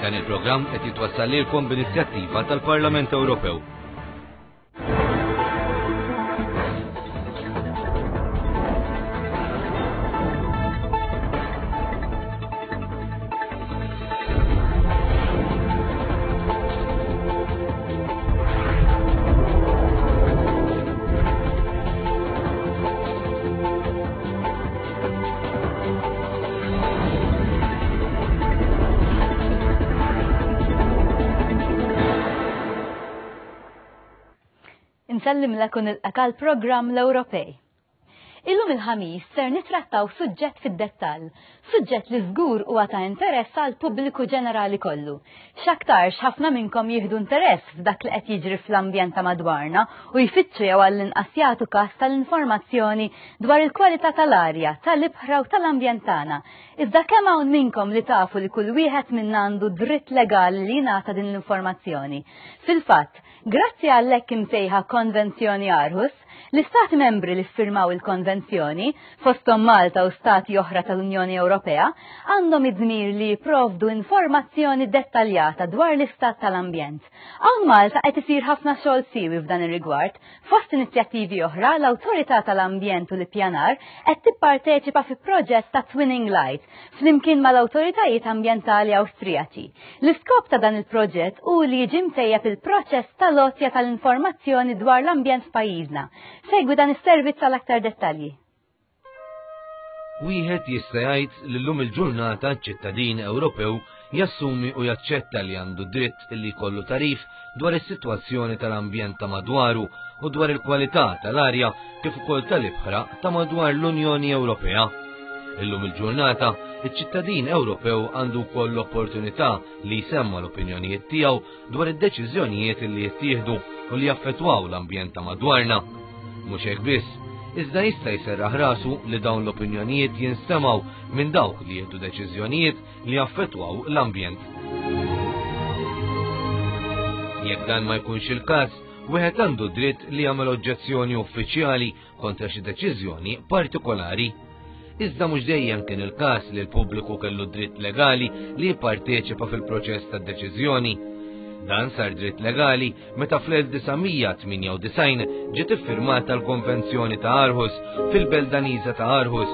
Dan il-programm qed jitwassal lilkom b'inizjattiva tal-Parlament Ewropew. Insellimlek u nilqak għal programm l-Ewropej. Illum il-ħamis ser nitrattaw suġġett fid-dettall, suġġett li żgur huwa ta' interess għal pubbliku ġenerali kollu. X'aktarx ħafna minnkom jieħdu interess f'dak li qed jiġri fl-ambjent ta' madwarna u jfittxu jew għall-inqas jagħtu każ tal-informazzjoni dwar il-kwalità tal-arja, tal-ibħra u tal-ambjent tagħna. Iżda kemm hawn minnkom li tafu li kull wieħed minna għandu dritt legali li jingħata din l-informazzjoni? Fil-fatt, grazzi għall-hekk imsejħa Konvenzjoni Aarhus, L-Istati membri li ffirmaw il-konvenzjoni, fosthom Malta u stati oħra tal-Unjoni Ewropea, għandhom id-dmir li jipprovdu informazzjoni dettaljata dwar l-istat tal-ambjent. Hawn Malta qed isir ħafna xogħol siwi f'dan ir-rigward. Fost inizjattivi oħra, l-Awtorità tal-Ambjent u l-Ippjanar qed tipparteċipa fi proġett ta' Twinning Light flimkien mal-awtoritajiet ambjentali Awstrijaċi. L-iskop ta' dan il-proġett hu li jiġi mtejjeb il-proċess tal-għotja tal-informazzjoni dwar l-ambjent f'pajjiżna. Segwi dan is-servizz għal aktar dettalji. Wieħed jista' jgħid li llum il-ġurnata ċ-ċittadin Ewropew jassumi u jaċċetta li għandu dritt li jkollu tagħrif dwar is-sitwazzjoni tal-ambjent ta' madwaru u dwar il-kwalità tal-arja kif ukoll tal-ibħra ta' madwar l-Unjoni Ewropea. Illum il-ġurnata, iċ-ċittadin Ewropew għandu wkoll l-opportunità li jsemma l-opinjonijiet tiegħu dwar id-deċiżjonijiet li jittieħdu u li jaffettwaw l-ambjent ta' madwarna. Mhux hekk biss, iżda jista' jserraħ rasu li dawn l-opinjonijiet jinstemgħu minn dawk li jieħdu deċiżjonijiet li jaffettwaw l-ambjent. Jekk dan ma jkunx il-każ, wieħed għandu dritt li jagħmel oġġezzjoni uffiċjali kontra xi deċiżjoni partikolari. Iżda mhux dejjem kien il-każ li l-pubbliku kellu dritt legali li jipparteċipa fil-proċess tad-deċiżjoni. Dan sar dritt legali meta fl-1998 ġiet iffirmata l-Konvenzjoni ta' Aarhus fil-belt Daniża ta' Aarhus.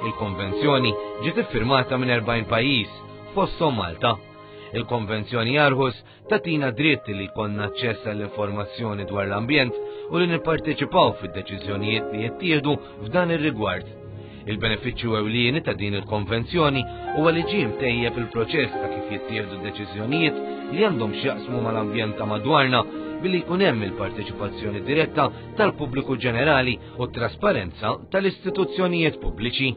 Il-konvenzjoni ġiet iffirmata minn 40 pajjiż, fosthom Malta. Il-Konvenzjoni Aarhus tatina dritt li jkollna aċċess għall-informazzjoni dwar l-ambjent u li nipparteċipaw fid-deċiżjonijiet li jittieħdu f'dan ir-rigward. Il-benefiċċju ewlieni ta' din il-konvenzjoni huwa li ġie mtejjeb il-proċess ta' kif jittieħdu deċiżjonijiet li għandhom x'jaqsmu mal-ambjent ta' madwarna billi jkun hemm il-parteċipazzjoni diretta tal-pubbliku ġenerali u t-trasparenza tal-istituzzjonijiet pubbliċi.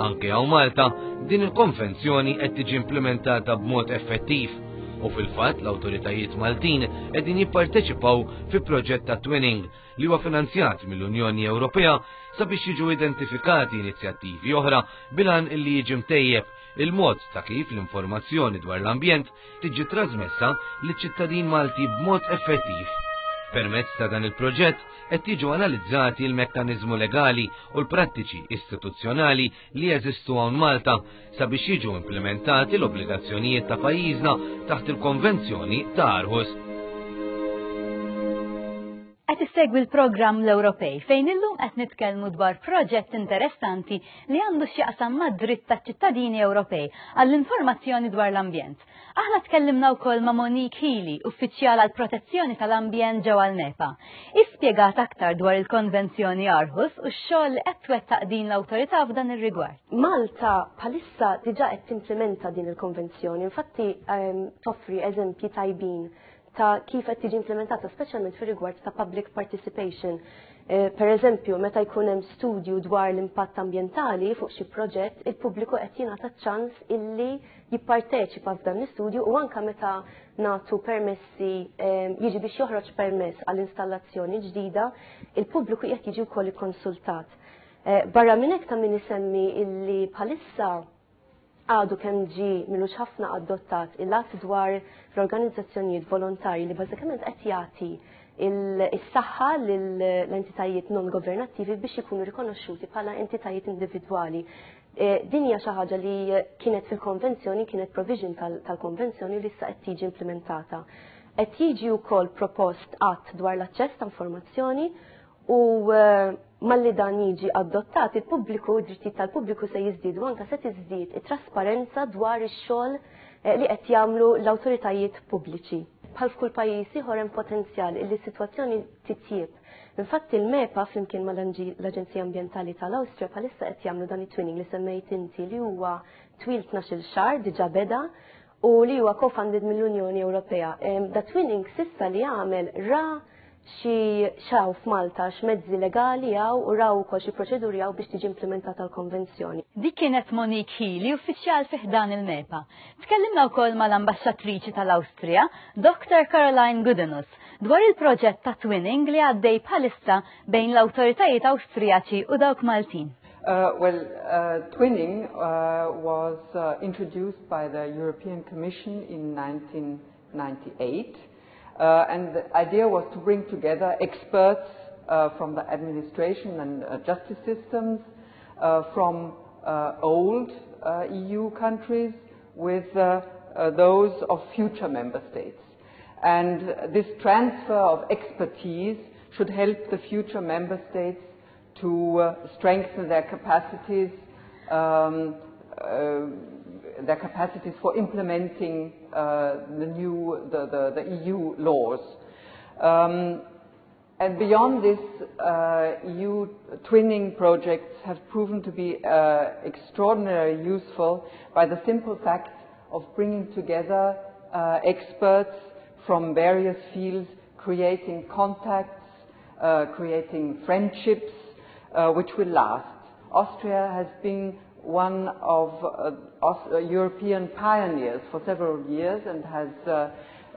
Anke hawn Malta, din il-konvenzjoni qed tiġi implementata b'mod effettiv u fil-fatt l-awtoritajiet Maltin qegħdin jipparteċipaw fi proġett ta' twinning li huwa finanzjat mill-Unjoni Ewropea sabiex jiġu identifikati inizjattivi oħra bilan illi jiġi mtejjeb il-mod ta' kif l-informazzjoni dwar l-ambjent tiġi trasmessa liċ-ċittadin Malti b'mod effettiv. Permezz ta' dan il-proġett qed jiġu analizzati l-mekkaniżmu legali u l-prattiċi istituzzjonali li jeżistu hawn Malta sabiex jiġu implimentati l-obbligazzjonijiet ta' pajjiżna taħt il-Konvenzjoni ta' Aarhus. Qed issegwi l-programm l-Ewropej fejn illum qed nitkellmu dwar proġett interessanti li għandu x'jaqsam mad-dritt taċ-ċittadini Ewropej għall-informazzjoni dwar l-ambjent. Aħna tkellimna wkoll ma' Monique Healy, uffiċjal għal protezzjoni tal-ambjent ġewwa l-MEPA. Ispjegat aktar dwar il-Konvenzjoni Aarhus u x-xogħol li qed twettaq din l-awtorità f'dan ir-rigward. Malta bħalissa diġà qed timplementa din il-konvenzjoni, infatti ehm, toffri eżempji tajbin ta' kif qed tiġi implementata, speċjalment fir-rigward ta' public participation. Eh, per eżempju, meta jkun hemm studju dwar l-impatt ambjentali fuq xi proġett, il-pubbliku qed jingħata ċans illi jipparteċipa f'dan l-istudju u anka meta nagħtu permessi eh, jiġi biex joħroġ permess għall installazzjoni ġdida, il-pubbliku qed jiġi wkoll ikkonsultat. Eh, barra minn hekk ta' min isemmi illi bħalissa għadu kemm ġi milux ħafna adottat il-att dwar l-organizzazzjonijiet volontarji li bażikament qed jagħti il-saħħa l-entitajiet non governattivi biex ikunu rikonoxxuti bħala entitajiet individwali. Din hija xi ħaġa li kienet fil-konvenzjoni, kienet provision tal-konvenzjoni li issa qed tiġi implementata. Qed jiġi wkoll propost att dwar l-aċċess ta' informazzjoni u malli dan jiġi adottat il-pubbliku, id-drittijiet tal-pubbliku se jiżdiedu anke se tiżdied it-trasparenza dwar ix-xogħol li qed jagħmlu l-awtoritajiet pubbliċi. Bħal f'kull pajjiż ieħor hemm potenzjal li s-sitwazzjoni titjieb. Infatti il-MEPA flimkien mal-Aġenzija Ambjentali tal-Awstrija bħalissa qed jagħmlu dan it-twinning li semmejt inti li huwa twil 12-il xahar diġà beda u li huwa co-funded mill-Unjoni Ewropea. Da twinning sissa li għamel ra xi xaw f'Malta x'mezzi legali hawn u raw ukoll xi proċeduri hawn biex tiġi implementata l-konvenzjoni. Dik kienet Monique Healy, uffiċjal fi ħdan il-MEPA. Tkellimna wkoll mal-Ambaxxatriċi tal-Awstrija, Dr. Caroline Gudenus, dwar il-proġett ta' twinning li għaddej bħalissa bejn l-awtoritajiet Awstrijaċi u dawk Maltin. Well, twinning was introduced by the European Commission in 1998, and the idea was to bring together experts from the administration and justice systems from old EU countries with those of future member states. And this transfer of expertise should help the future member states to strengthen their capacities, their capacities for implementing the new, the, the, the EU laws. And beyond this, EU twinning projects have proven to be extraordinarily useful by the simple fact of bringing together experts from various fields, creating contacts, creating friendships, which will last. Austria has been one of European pioneers for several years and has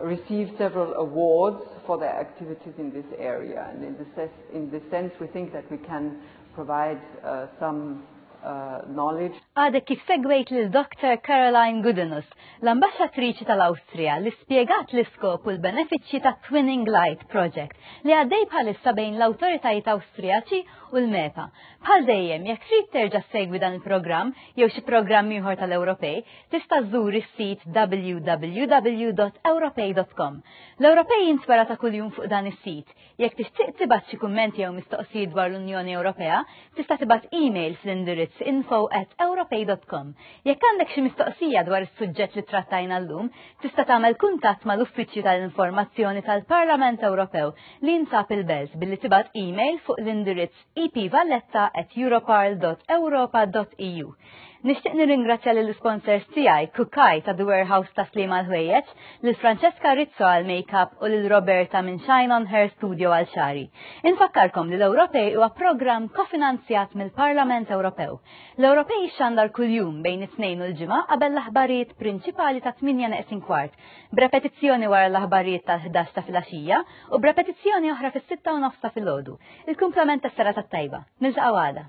received several awards for their activities in this area. And in this, in this sense, we think that we can provide some knowledge. Għadek kif segwejt lil Dr. Caroline Gudenus, l-ambaxxatriċi tal-Awstrija li spjegat l-iskop u l-benefiċċji ta' Twinning Light Project li għaddej bħalissa bejn l-awtoritajiet Awstrijaċi u l-MEPA. Bħal dejjem, jekk trid terġa' segwi dan il-programm jew xi programm ieħor tal-Ewropej, tista' żżur is-sit www.ewropej.com. L-Ewropej jintwera ta' kuljum fuq dan is-sit. Jekk tixtieq tibgħat xi kummenti jew mistoqsijiet dwar l-Unjoni Ewropea, tista' tibgħat email fl-indirizz info@ewropej.com. Jekk għandek xi mistoqsija dwar is-suġġett li trattajna llum, tista' tagħmel kuntatt mal-Uffiċċju tal-Informazzjoni tal-Parlament Ewropew li jinsab il-Belt billi tibgħat email fuq l-indirizz epvalletta@europarl.europa.eu. Nixtieq nirringrazzja lill sponsors tiegħi Kukaj ta' The Warehouse ta' Sliema l-Ħwejjeġ, lil Francesca Rizzo għal makeup u lil Roberta minn Shine on Her Studio għal xari. Infakkarkom li l-Ewropej huwa programm kofinanzjat mill-Parlament Ewropew. L-Ewropej xandar kuljum bejn it-tnejn u l-ġimgħa qabel l-aħbarijiet prinċipali ta' 8 neqsin kwart, b'repetizzjoni wara l-aħbarijiet tal-11 ta' filgħaxija u b'repetizzjoni oħra fis-6 u nofs ta' filgħodu. Il-kumplament tas-serata tajba. Niltaqgħu għada.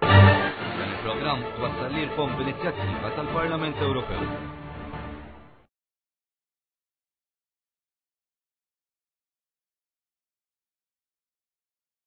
Dan il-programm twassal lilkom b'inizjattiva tal-Parlament Ewropew.